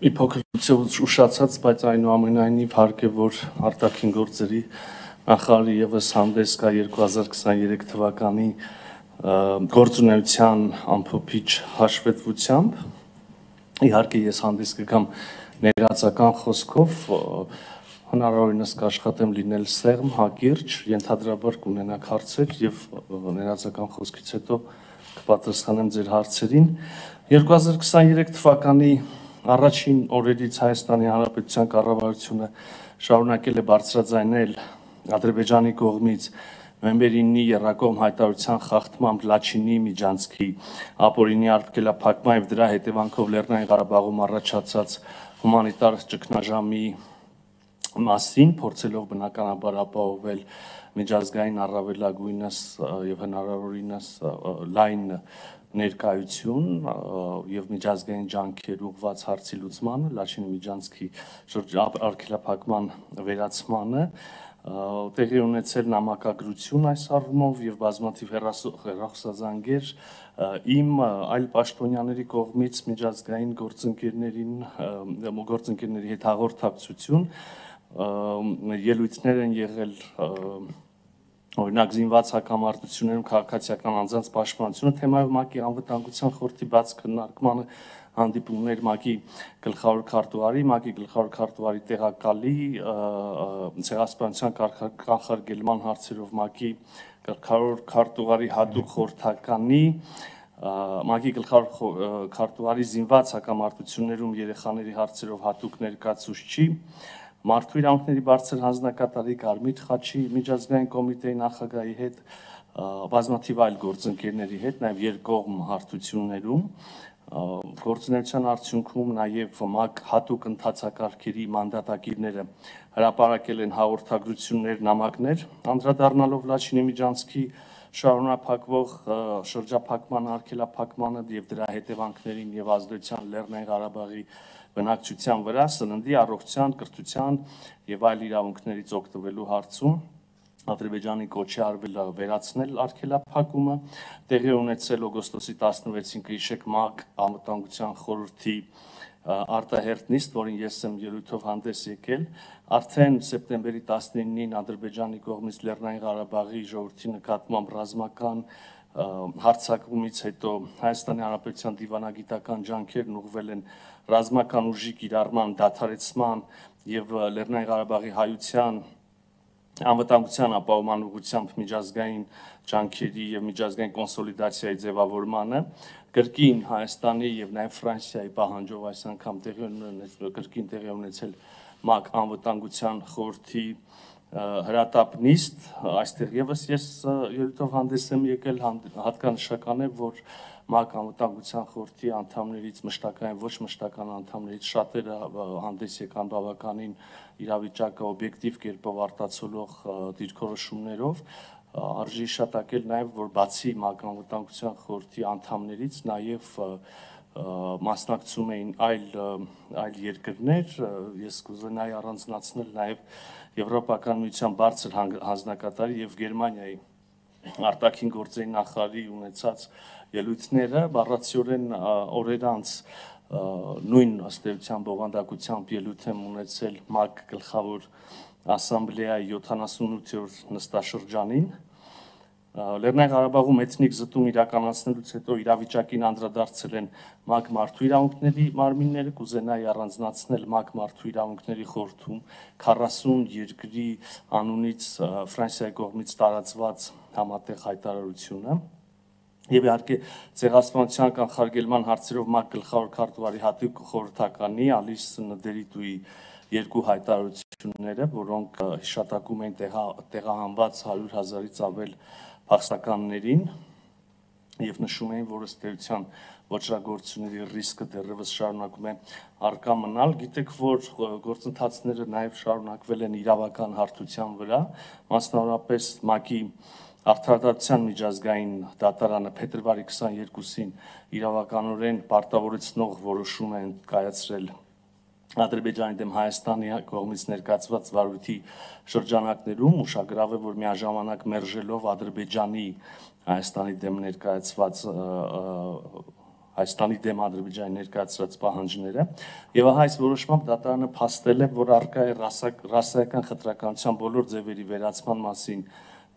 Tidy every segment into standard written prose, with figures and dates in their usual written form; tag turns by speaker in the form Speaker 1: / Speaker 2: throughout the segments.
Speaker 1: Մի փոքր ուշացած, բայց այնուամենայնիվ հարկ է, որ արտաքին գործերի նախարարի ևս հանդես կա 2023 թվականի գործունեության ամփոփիչ հաշվետվությամբ։ Իհարկե ես հանդես կգամ ներածական խոսքով, հնարավորինս կաշխատեմ լինել սեղմ, հակիրճ, ենթադրաբար կունենաք հարցեր եւ ներածական խոսքից հետո կպատասխանեմ ձեր հարցերին։ 2023 թվականի առաջին օրերից Հայաստանի Հանրապետության կառավարությունը շարունակել է բարձրաձայնել Ադրբեջանի կողմից նոյեմբերի 9-ի եռակողմ հայտարարության խախտմամբ Լաչինի միջանցքի ապօրինի արգելափակման եւ դրա հետևանքով Լեռնային Ղարաբաղում առաջացած հումանիտար ճգնաժամի մասին, փորձելով բնականաբար ապահովել միջազգային առավելագույնս եւ հնարավորինս լայն ներկայություն եւ միջազգային ջանքեր ուղղված հարցի լուծմանը, Լաչինի միջանցքի արգելափակման վերացմանը, տեղի ունեցել նամակագրություն այս առումով եւ բազմաթիվ հեռախոսազանգեր իմ այլ պաշտոնյաների կողմից միջազգային գործընկերների հետ հաղորդակցություն, ելույթներ են եղել օրինակ զինված հակամարտություններում քաղաքացիական անձանց պաշտպանությունը թեմայով ՄԱԿ-ի անվտանգության խորհրդի բաց քննարկմանը հանդիպումներ ՄԱԿ-ի գլխավոր քարտուղարի, ՄԱԿ-ի գլխավոր քարտուղարի տեղակալի, ցեղասպանության կանխարգելման հարցերով ՄԱԿ-ի գլխավոր քարտուղարի հատուկ խորհրդականի, ՄԱԿ-ի գլխավոր քարտուղարի զինված հակամարտություններում երեխաների հարցերով հատուկ ներկայացուցչի, Մարդու իրավունքների բարձր հանձնակատարի Կարմիր խաչի միջազգային կոմիտեի նախագահի հետ, բազմաթիվ այլ գործընկերների հետ, նաև երկկողմ հարթություններում, գործունեության արդյունքում նաև ՄԱԿ հատուկ ընթացակարգերի մանդատագիրները հրապարակել են հաղորդագրություններ, նամակներ, անդրադառնալով Լաչինի միջանցքի շարունակվող շրջափակման արգելափակմանը եւ դրա հետևանքներին եւ ազդեցության Լեռնային Ղարաբաղի բնակչության վրա, սննդի, առողջության, կրթության եւ այլ իրավունքներից օգտվելու հարցում Ադրբեջանի կոչի արվել վերացնել արգելափակումը, տեղի ունեցել օգոստոսի 16-ին կհիշեք ՄԱԿ անվտանգության խորհրդի արտահերթ նիստ, որին ես եմ ելույթով հանդես եկել, արդեն սեպտեմբերի 19-ին Ադրբեջանի կողմից Լեռնային Ղարաբաղի ժողովրդի նկատմամբ ռազմական հարձակումից հետո Հայաստանի Հանրապետության դիվանագիտական ջանքերն ուղղվել են ռազմական ուժի կիրառման դադարեցման եւ Լեռնային Ղարաբաղի հայության անվտանգության ապահովման ուղղությամբ միջազգային ջանքերի եւ միջազգային կոնսոլիդացիայի ձևավորմանը, կրկին Հայաստանի եւ նաեւ Ֆրանսիայի պահանջով այս անգամ կրկին տեղի ունեցել ՄԱԿ անվտանգության խորհրդի հրատապ նիստ, այստեղ եւս ես ելույթով հանդես եմ եկել, հատկանշական է, որ ՄԱԿ անվտանգության խորհրդի անդամներից մշտական ոչ մշտական անդամներից շատերը հանդես եկան բավականին իրավիճակը օբյեկտիվ կերպով արտացոլող դիրքորոշումներով, արժի հիշատակել նաեւ, որ բացի ՄԱԿ անվտանգության խորհրդի անդամներից նաեւ մասնակցում էին այլ երկրներ, ես կուզենայի առանձնացնել նաեւ Եվրոպական միության բարձր հանձնակատարի եւ Գերմանիայի արտաքին գործերի նախարարի ունեցած ելույթները, բառացիորեն օրեր անց նույն ըստ էության բովանդակությամբ ելույթ եմ ունեցել ՄԱԿ գլխավոր ասամբլեայի 78-րդ նստաշրջանին, Լեռնային Ղարաբաղում էթնիկ զտում իրականացնելուց հետո իրավիճակին անդրադարձել են ՄԱԿ մարդու իրավունքների մարմինները, կուզենայի առանձնացնել ՄԱԿ մարդու իրավունքների խորհրդում 40 երկրի անունից Ֆրանսիայի կողմից տարածված համատեղ հայտարարությունը եւ իհարկե ցեղասպանության կանխարգելման հարցերով ՄԱԿ գլխավոր քարտուղարի հատուկ խորհրդականի Ալիս Նդերիտուի երկու հայտարարությունները, որոնք հիշատակում են տեղահանված 100,000-ից ավել փախստականներին եւ նշում էին, որ ըստ էության ոչռագործությունների ռիսկը դեռևս շարունակում է առկա մնալ։ Գիտեք, որ գործընթացները նաեւ շարունակվել են իրավական հարթության վրա, մասնավորապես ՄԱԿ-ի Արդարադատության միջազգային դատարանը փետրվարի 22-ին իրավականորեն պարտավորեցնող որոշում է կայացրել Ադրբեջանի դեմ Հայաստանի կողմից ներկայացված վարույթի շրջանակներում, ուշագրավ է, որ միաժամանակ մերժելով Ադրբեջանի Հայաստանի դեմ ներկայացված Հայաստանի դեմ Ադրբեջանի ներկայացրած պահանջները եւ ահա այս որոշմամբ դատարանը փաստել է, որ առկա է ռասայական խտրականության բոլոր ձևերի վերացման մասին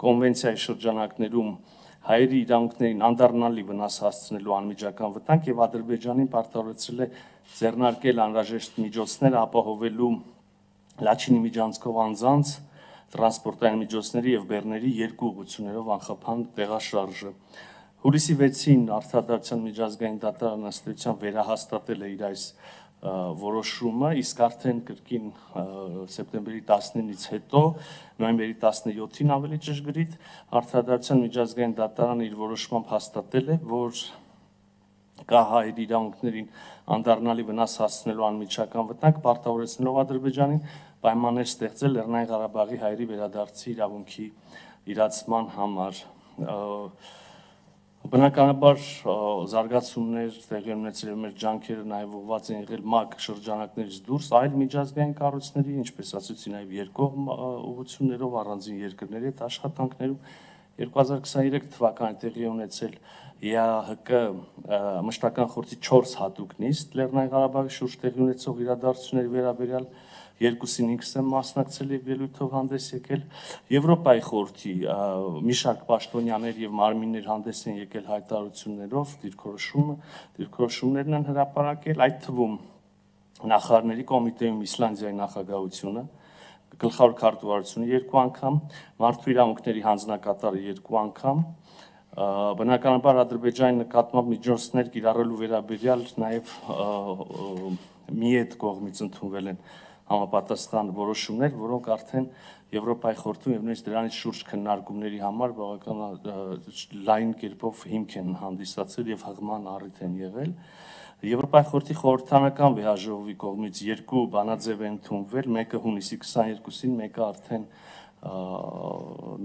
Speaker 1: կոնվենցիայի շրջանակներում հայերի իրավունքներին անդառնալի վնաս հասցնելու անմիջական վտանգ եւ Ադրբեջանին պարտավորեցրել է ձեռնարկել անհրաժեշտ միջոցներ ապահովելու Լաչինի միջանցքով անձանց տրանսպորտային միջոցների եւ բեռների երկու ուղղություններով անխափան տեղաշարժը։ Հուլիսի 6-ին Արդարադատության միջազգային դատարանը ըստ էության վերահաստատել է իր այս որոշումը, իսկ արդեն կրկին սեպտեմբերի 19-ից հետո, նոյեմբերի 17-ին ավելի ճշգրիտ, Արդարադատության միջազգային դատարանը իր որոշմամբ հաստատել է, որ կա հայերի իրավունքներին անդառնալի վնաս հասցնելու անմիջական վտանգ, պարտավորեցնելով Ադրբեջանին պայմաններ ստեղծել Լեռնային Ղարաբաղի հայերի վերադարձի իրավունքի իրացման համար։ Բնականաբար զարգացումներ տեղի ունեցել եւ մեր ջանքերը նաեւ ուղղված են եղել ՄԱԿ շրջանակներից դուրս այլ միջազգային կառույցների, ինչպես ասացի, նաեւ երկկողմ ուղղություններով առանձին երկրների հետ աշխատանքներում 2023 թվականին տեղի ունեցել ԵԱՀԿ մշտական խորհրդի 4 հատուկ նիստ Լեռնային Ղարաբաղի շուրջ տեղի ունեցող իրադարձությունների վերաբերյալ, երկուսին ինքս եմ մասնակցել եւ ելույթով հանդես եկել։ Եվրոպայի խորհրդի մի շարք պաշտոնյաներ եւ մարմիններ հանդես են եկել հայտարարություններով, դիրքորոշումներն են հրապարակել, այդ թվում նախարարների կոմիտեում Իսլանդիայի նախագահությունը, գլխավոր քարտուղարությունը 2 անգամ, մարդու իրավունքների հանձնակատարը 2 անգամ, բնականաբար Ադրբեջանի նկատմամբ միջոցներ կիրառելու վերաբերյալ նաեւ միետ կողմից ընդունվել են համապատասխան որոշումներ, որոնք արդեն Եվրոպայի խորհրդում եւ նույնիսկ դրանից շուրջ քննարկումների համար բավական լայն կերպով հիմք են հանդիսացել եւ հղման առիթ են եղել։ Եվրոպայի խորհրդի խորհրդանական վեհաժողովի կողմից 2 բանաձև են ընդունվել, մեկը հունիսի 22-ին, մեկը արդեն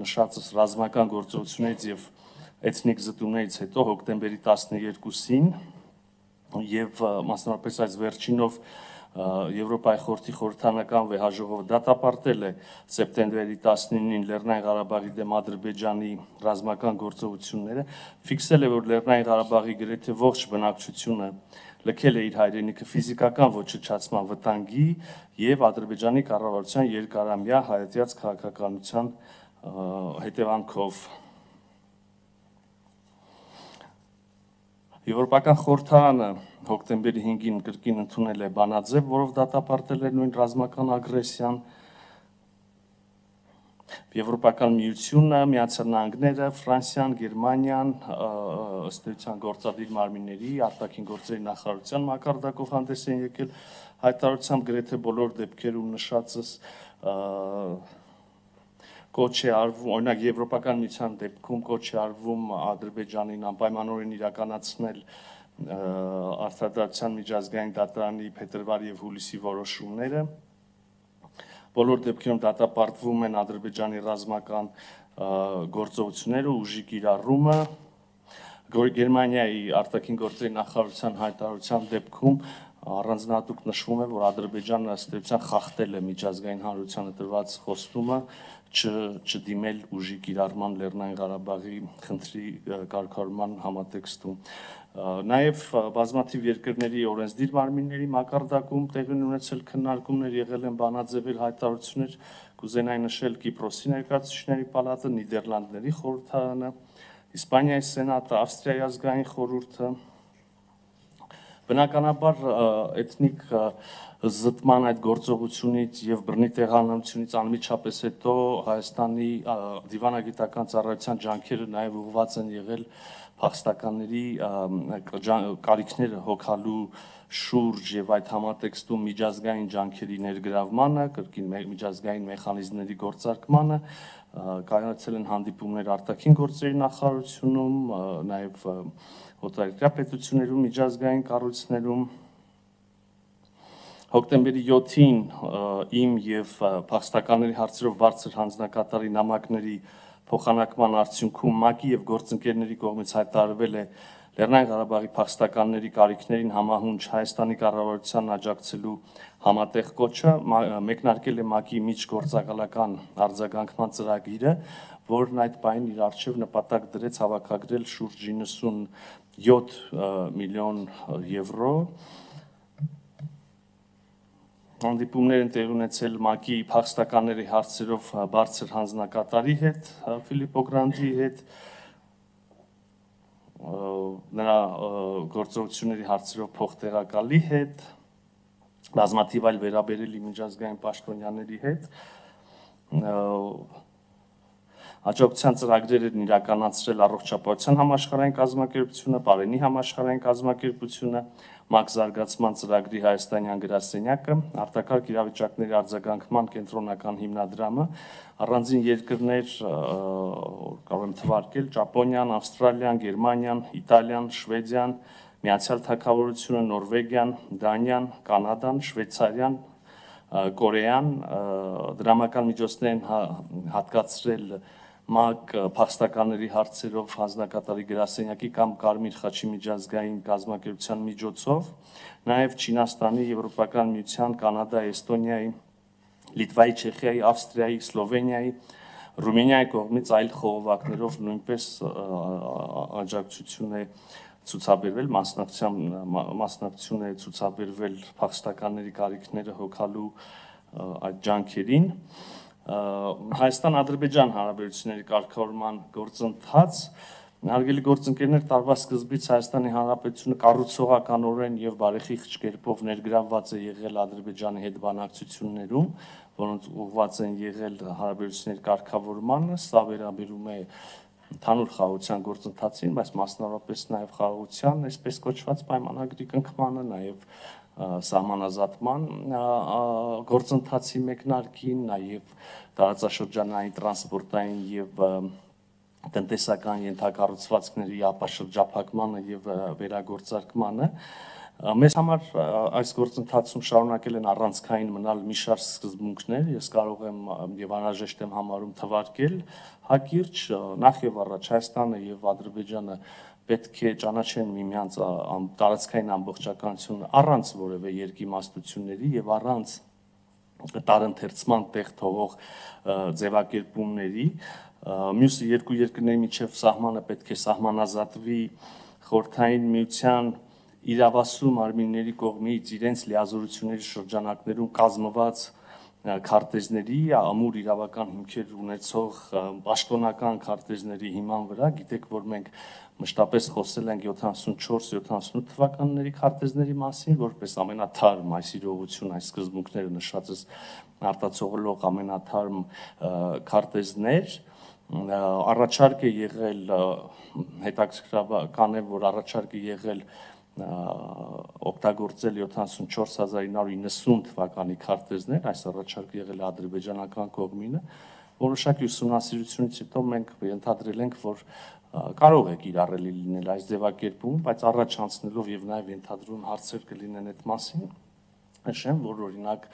Speaker 1: նշածս ռազմական գործողություններից եւ էթնիկ զտումներից հետո հոկտեմբերի 12-ին եւ մասնավորապես այս վերջինով Եվրոպայի խորհրդի խորհրդանական վեհաժողովը դատապարտել է սեպտեմբերի 19-ին Լեռնային Ղարաբաղի դեմ Ադրբեջանի ռազմական գործողությունները, ֆիքսել է, որ Լեռնային Ղարաբաղի գրեթե ողջ բնակչությունը լքել է իր հայրենիքը ֆիզիկական ոչնչացման վտանգի եւ Ադրբեջանի կառավարության երկարամյա հայացած քաղաքականության հետևանքով։ Եվրոպական խորհրդարանը հոկտեմբերի 5-ին կրկին ընդունել է բանաձև, որով դատապարտել է նույն ռազմական ագրեսիան։ Եվրոպական միությունը, Միացյալ Նահանգները, Ֆրանսիան, Գերմանիան ըստ էության գործադիր մարմինների, արտաքին գործերի նախարարության մակարդակով հանդես են եկել հայտարարությամբ գրեթե բոլոր դեպքերում նշածս կոչ է արվում, օրինակ Եվրոպական միության դեպքում կոչ է արվում Ադրբեջանին անպայմանորեն իրականացնել Արդարադատության միջազգային դատարանի փետրվարի եւ հուլիսի որոշումները։ Բոլոր դեպքերում դատապարտվում են Ադրբեջանի ռազմական գործողությունները, ուժի կիրառումը։ Գերմանիայի արտաքին գործերի նախարարության հայտարարության դեպքում առանձնահատուկ նշվում է, որ Ադրբեջանը ըստ էության խախտել է միջազգային հանրությանը տրված խոստումը չդիմել ուժի կիրառման Լեռնային Ղարաբաղի խնդրի կարգավորման համատեքստում։ Նաև բազմաթիվ երկրների օրենսդիր մարմինների մակարդակում տեղի ունեցել քննարկումներ, եղել են բանաձևեր, հայտարարություններ, կուզենայի նշել Կիպրոսի ներկայացուցիչների պալատը, Նիդերլանդների խորհրդարանը, Իսպանիայի սենատը, Ավստրիայի ազգային խորհուրդը։ Բնականաբար էթնիկ զտման այդ գործողությունից եւ բռնի տեղանությունից անմիջապես հետո Հայաստանի դիվանագիտական ծառայության ջանքերը նաեւ ուղղված են եղել փախստականների կարիքները հոգալու շուրջ եւ այդ համատեքստում միջազգային ջանքերի ներգրավմանը, կրկին միջազգային մեխանիզմների գործարկմանը, կայացել են հանդիպումներ արտաքին գործերի նախարարությունում, նաեւ օտարերկրյա պետություններում, միջազգային կառույցներում։ Հոկտեմբերի 7-ին իմ եւ փախստականների հարցերով բարձր հանձնակատարի նամակների փոխանակման արդյունքում ՄԱԿ-ի եւ գործընկերների կողմից հայտարարվել է Լեռնային Ղարաբաղի փախստականների կարիքներին համահունչ Հայաստանի կառավարությանն աջակցելու համատեղ կոչը, մեկնարկել է ՄԱԿ-ի միջգործակալական արձագանքման ծրագիրը, որն այդ պահին իր առջև նպատակ դրեց հավաքագրել շուրջ 97 միլիոն եվրո։ Հանդիպումներ են տեղի ունեցել ՄԱԿ-ի փախստականների հարցերով բարձր հանձնակատարի հետ, Ֆիլիպպո Գրանդիի հետ, նրա գործողությունների հարցերով փոխտեղակալի հետ, բազմաթիվ այլ վերաբերելի միջազգային պաշտոնյաների հետ, հաջողության ծրագրեր են իրականացրել Առողջապահության համաշխարհային կազմակերպությունը, Պարենի համաշխարհային կազմակերպությունը, ՄԱԿ զարգացման ծրագրի հայաստանյան գրասենյակը, արտակարգ իրավիճակների արձագանքման կենտրոնական հիմնադրամը, առանձին երկրներ կարող եմ թվարկել Ճապոնիան, Ավստրալիան, Գերմանիան, Իտալիան, Շվեդիան, Միացյալ Թագավորությունը, Նորվեգիան, Դանիան, Կանադան, Շվեյցարիան, Կորեան, դրամական միջոցներ են հատկացրել ՄԱԿ փախստականների հարցերով հանձնակատարի գրասենյակի կամ Կարմիր խաչի միջազգային կազմակերպության միջոցով, նաև Չինաստանի, Եվրոպական միության, Կանադայի, Էստոնիայի, Լիտվայի, Չեխիայի, Ավստրիայի, Սլովենիայի, Ռումինիայի կողմից այլ խողովակներով նույնպես աջակցություն է ցուցաբերվել, մասնակցություն է ցուցաբերվել փախստականների կարիքները հոգալու այդ ջանքերին։ Հայաստան-Ադրբեջան հարաբերությունների կարգավորման գործընթաց, հարգելի գործընկերներ, տարվա սկզբից Հայաստանի Հանրապետությունը կառուցողականորեն եւ բարեխիղճ կերպով ներգրավված է եղել Ադրբեջանի հետ բանակցություններում, որոնց ուղղված են եղել հարաբերությունների կարգավորմանը, սա վերաբերում է ընդհանուր խաղաղության գործընթացին, բայց մասնավորապես նաև խաղաղության, այսպես կոչված պայմանագրի կնքմանը, նաև սահմանազատման գործընթացի մեկնարկին, նաև տարածաշրջանային տրանսպորտային եւ տնտեսական ենթակառուցվածքների ապաշրջափակմանը եւ վերագործարկմանը։ Մեզ համար այս գործընթացում շարունակել են առանցքային մնալ մի շարք սկզբունքներ, ես կարող եմ եւ անհրաժեշտ եմ համարում թվարկել հակիրճ, նախ եւ առաջ Հայաստանը եւ Ադրբեջանը պետք է ճանաչեն միմյանց տարածքային ամբողջականությունը առանց որևէ երկիմաստությունների եւ առանց տարընթերցման տեղ թողող ձևակերպումների, մյուս երկու երկրների միջև սահմանը պետք է սահմանազատվի խորհրդային միության իրավասու մարմինների կողմից իրենց լիազորությունների շրջանակներում կազմված քարտեզների, ամուր իրավական հիմքեր ունեցող պաշտոնական քարտեզների հիման վրա, գիտեք, որ մենք մշտապես խոսել ենք 74-78 թվականների քարտեզների մասին, որպես ամենաթարմ այս իրողություն, այս սկզբունքները նշածս արտացոլող ամենաթարմ քարտեզներ, առաջարկ է եղել, հետաքրքրական է, որ առաջարկ է եղել օգտագործել 74990 թվականի քարտեզներ, այս առաջարկը եղել է ադրբեջանական կողմինը, որոշակի ուսումնասիրությունից հետո մենք ենթադրել ենք, որ կարող է կիրառելի լինել այս ձևակերպումը, բայց առաջ անցնելով եւ նաեւ ենթադրում հարցեր կլինեն այդ մասին, նշեմ, որ օրինակ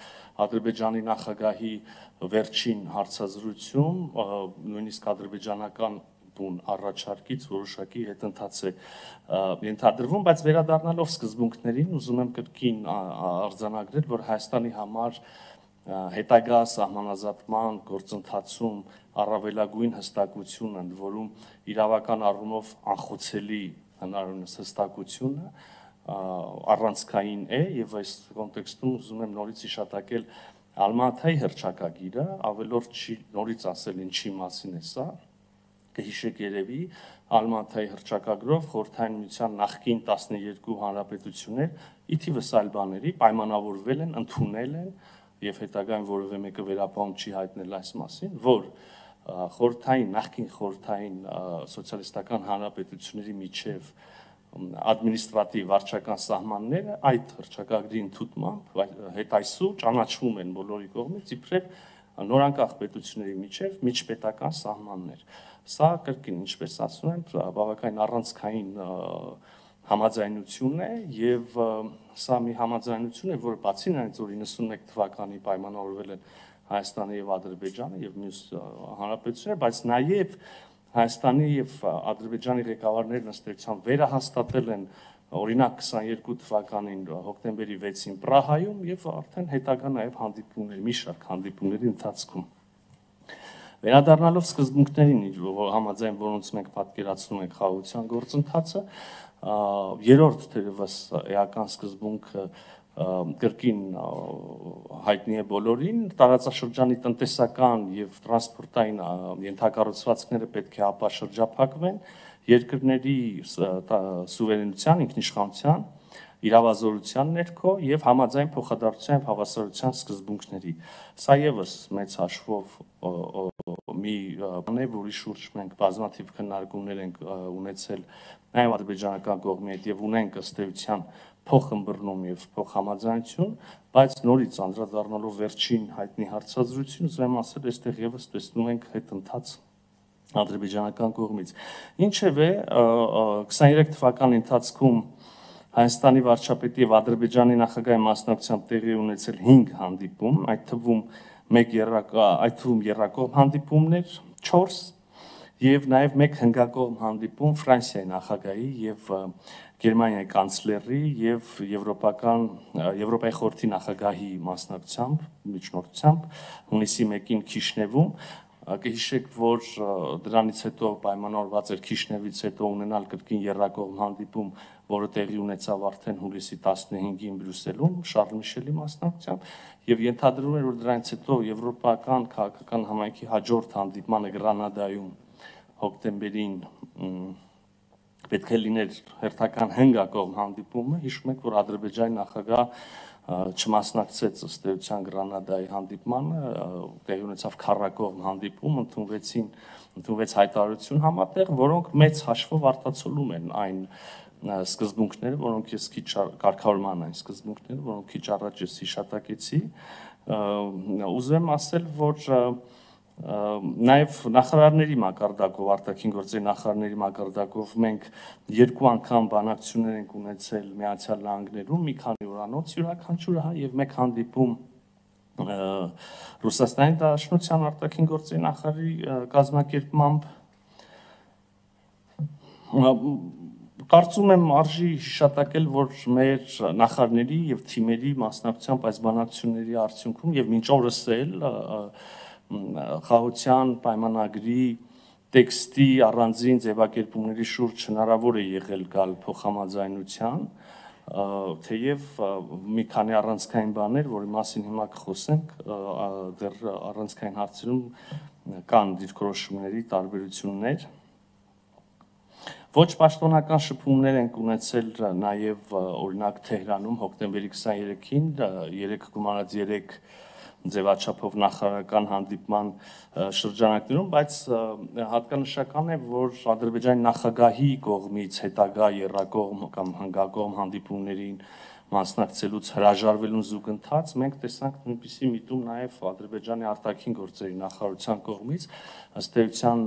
Speaker 1: Ադրբեջանի նախագահի վերջին հարցազրույցում նույնիսկ ադրբեջանական բուն առաջարկից որոշակի հետընթաց է ենթադրվում, բայց վերադառնալով սկզբունքներին, ուզում եմ կրկին արձանագրել, որ Հայաստանի համար հետագա սահմանազատման գործընթացում առավելագույն հստակություն, ընդ որում իրավական առումով անխոցելի հնարավորինս հստակությունը առանցքային է եւ այս կոնտեքստում ուզում եմ նորից հիշատակել Ալմատայի հռչակագիրը, ավելորդ չի նորից ասել ինչի մասին է սա, կհիշեք երևի Ալմատայի հռչակագրով խորհրդային միության նախկին 12 հանրապետություններ ի թիվս այլ բաների պայմանավորվել են, ընդունել են եւ հետագայում որևէ մեկը վերապահում չի հայտնել այս մասին, որ նախկին խորհրդային սոցիալիստական հանրապետությունների միջև ադմինիստրատիվ վարչական սահմանները այդ հռչակագրի ընդունմամբ հետայսու ճանաչվում են բոլորի կողմից իբրև նորանկախ պետությունների միջև միջպետական սահմաններ։ Սա կրկին, ինչպես ասում եմ, բավականին առանցքային համաձայնություն է եւ սա մի համաձայնություն է, որը բացի նրանից, որ 91 թվականի պայմանավորվել են Հայաստանը եւ Ադրբեջանը եւ մյուս հանրապետությունները, բայց նաեւ Հայաստանի եւ Ադրբեջանի ղեկավարներն ըստ էության վերահաստատել են օրինակ 22 թվականին հոկտեմբերի 6-ին Պրահայում եւ արդեն հետագա նաեւ հանդիպումներ, մի շարք հանդիպումների ընթացքում։ Վերադառնալով սկզբունքներին, համաձայն որոնց մենք պատկերացնում ենք խաղաղության գործընթացը, երրորդ թերևս էական սկզբունքը կրկին հայտնի է բոլորին, տարածաշրջանի տնտեսական եւ տրանսպորտային ենթակառուցվածքները պետք է ապաշրջափակվեն երկրների սուվերենության, ինքնիշխանության, իրավազորության ներքո եւ համաձայն փոխադարձության եւ հավասարության սկզբունքների։ Սա եւս մեծ հաշվով մի բան է, որի շուրջ մենք բազմաթիվ քննարկումներ ենք ունեցել նաեւ ադրբեջանական կողմի հետ եւ ունենք ըստ էության փոխըմբռնում եւ փոխհամաձայնություն, բայց նորից անդրադառնալով վերջին հայտնի հարցազրույցին, ուզում եմ ասել, այստեղ եւս տեսնում ենք հետընթաց ադրբեջանական կողմից։ Ինչևէ, 23 թվականի ընթացքում Հայաստանի վարչապետի եւ Ադրբեջանի նախագահի մասնակցությամբ տեղի ունեցել 5 հանդիպում, այդ թվում երրակողմ հանդիպումներ 4 եւ նաեւ 1 հնգակողմ հանդիպում Ֆրանսիայի նախագահի եւ Գերմանիայի կանցլերի եւ Եվրոպայի խորհրդի նախագահի մասնակցությամբ, միջնորդությամբ հունիսի 1-ին Քիշնևում կհիշեք, որ դրանից հետո պայմանավորված էր Քիշնևից հետո ունենալ կրկին երրակողմ հանդիպում, որը տեղի ունեցավ արդեն հուլիսի 15-ին Բրյուսելում Շարլ Միշելի մասնակցությամբ եւ ենթադրվում էր, որ դրանից հետո եվրոպական քաղաքական համայնքի հաջորդ հանդիպմանը Գրանադայում հոկտեմբերին պետք է լիներ հերթական հնգակողմ հանդիպումը, հիշում եք, որ Ադրբեջանի նախագահ չմասնակցեց ըստ էության Գրանադայի հանդիպմանը, տեղի ունեցավ քառակողմ հանդիպում, ընդունվեց հայտարարություն համատեղ, որոնք մեծ հաշվով արտացոլում են այն սկզբունքները, որոնք ես քիչ կարգավորման այն սկզբունքները, որոնք քիչ առաջ ես հիշատակեցի, ուզում եմ ասել, որ նաև նախարարների մակարդակով, արտաքին գործերի նախարարների մակարդակով մենք 2 անգամ բանակցություններ ենք ունեցել Միացյալ Նահանգներում, մի քանի օրանոց յուրաքանչյուրը եւ 1 հանդիպում Ռուսաստանի Դաշնության արտաքին գործերի նախարարի կազմակերպմամբ կարծում եմ արժի հիշատակել, որ մեր նախարարների եւ թիմերի մասնակցությամբ այս բանակցությունների արդյունքում եւ մինչ օրս էլ խաղաղության պայմանագրի տեքստի առանձին ձևակերպումների շուրջ հնարավոր է եղել գալ փոխհամաձայնության, թեև մի քանի առանցքային բաներ, որի մասին հիմա կխոսենք, դեռ առանցքային հարցերում կան դիրքորոշումների տարբերություններ։ Ոչ պաշտոնական շփումներ ենք ունեցել նաև օրինակ Թեհրանում հոկտեմբերի 23-ին 3 գումարած 3 ձևաչափով նախարարական հանդիպման շրջանակներում, բայց հատկանշական է, որ Ադրբեջանի նախագահի կողմից հետագա երրակողմ կամ հնգակողմ հանդիպումներին մասնակցելուց հրաժարվելուն զուգընթաց մենք տեսանք նույնպիսի միտում նաև Ադրբեջանի արտաքին գործերի նախարարության կողմից, ըստ էության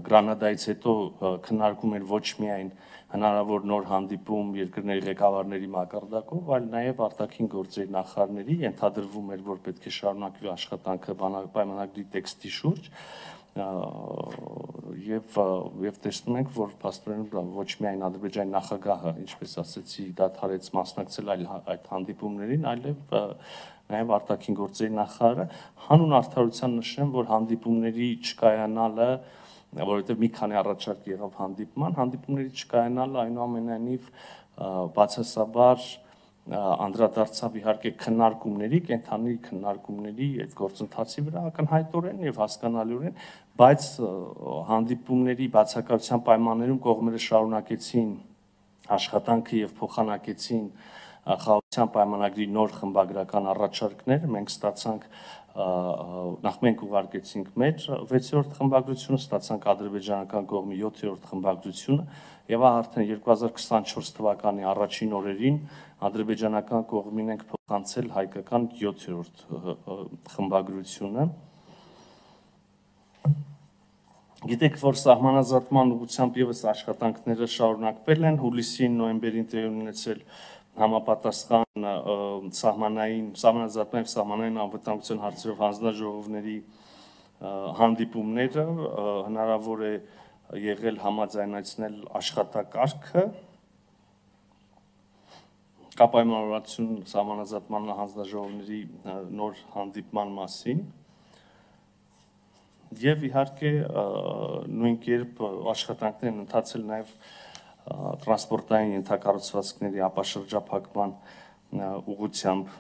Speaker 1: Գրանադայից հետո քննարկում էր ոչ միայն հնարավոր նոր հանդիպում երկրների ղեկավարների մակարդակով, այլ նաև արտաքին գործերի նախարարների, ենթադրվում էր, որ պետք է շարունակվի աշխատանքը պայմանագրի տեքստի շուրջ եւ տեսնում ենք, որ փաստորեն ոչ միայն Ադրբեջանի նախագահը, ինչպես ասեցի, դադարեց մասնակցել այդ հանդիպումներին, այլև նաև արտաքին գործերի նախարարը հանուն արդարության նշեմ, որ հանդիպումների չկայանալը, որովհետև մի քանի առաջարկ եղավ հանդիպումների չկայանալը այնուամենայնիվ բացասաբար անդրադարձավ իհարկե քննարկումների, կենթանի քննարկումների այդ գործընթացի վրա ակնհայտորեն եւ հասկանալիորեն, բայց հանդիպումների բացակայության պայմաններում կողմերը շարունակեցին աշխատանքը եւ փոխանակեցին խաղաղության պայմանագրի նոր խմբագրական առաջարկներ, մենք ստացանք նախ մենք ուղարկեցինք մեր 6-րդ խմբագրությունը, ստացանք ադրբեջանական կողմի 7-րդ խմբագրությունը եւ արդեն 2024 թվականի առաջին օրերին ադրբեջանական կողմին ենք փոխանցել հայկական 7-րդ խմբագրությունը։ Գիտեք, որ սահմանազատման ուղղությամբ եւս աշխատանքները շարունակվել են, հուլիսին, նոյեմբերին տեղի ունեցել համապատասխան սահմանազատման եւ սահմանային անվտանգության հարցերով հանձնաժողովների հանդիպումները, հնարավոր է եղել համաձայնեցնել աշխատակարգը, կա պայմանավորվածություն սահմանազատման հանձնաժողովների նոր հանդիպման մասին, Եվ իհարկե նույն կերպ աշխատանքներ են ընթացել նաև տրանսպորտային ենթակառուցվածքների ապաշրջափակման ուղղությամբ